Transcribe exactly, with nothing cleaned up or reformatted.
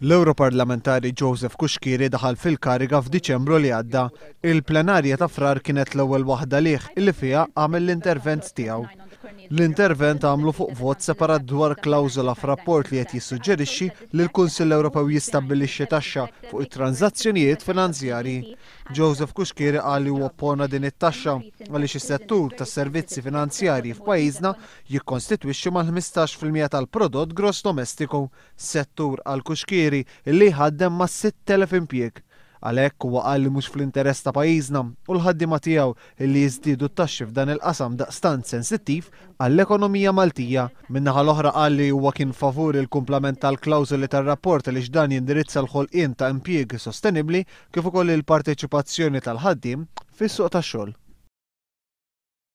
L-Ewroparlamentari Joseph Cuschieri daħal fil-kariga f'Diċembru li għadda. Il-plenarja ta' Frar kienet l-ewwel waħda lih illi fiha għamel l-intervent tiegħu. L-intervent għamlu fuq vot separat dwar klawżola f'rapport li qed jissuġġerixxi li l-Kunsill Ewropew jistabbilixxi taxxa fuq it-transazzjonijiet finanzjarji. Joseph Cuschieri qal li huwa oppona din it-taxxa għaliex is-settur tas-servizzi finanzjarji f'pajjiżna jikkonstitwixxi mal-ħmistax fil-mija tal-prodott gross domestiku, settur għal Cuschieri li jħaddem ma' sitt elef impjieg. Għalhekk huwa qal li mhux fl-interess ta' pajjiżna u l-ħaddiema tiegħu li jiżdiedu t-taxxi f'dan il-qasam daqstant sensittiv għall-ekonomija Maltija. Min-naħa l-oħra qal li huwa kien favur il-kumplament tal-klawżoli tar-rapport li dan jindirizza l-ħolqien ta' impjieg sostenibbli kif ukoll il-parteċipazzjoni tal-ħaddiem fis-suq tax-xogħol.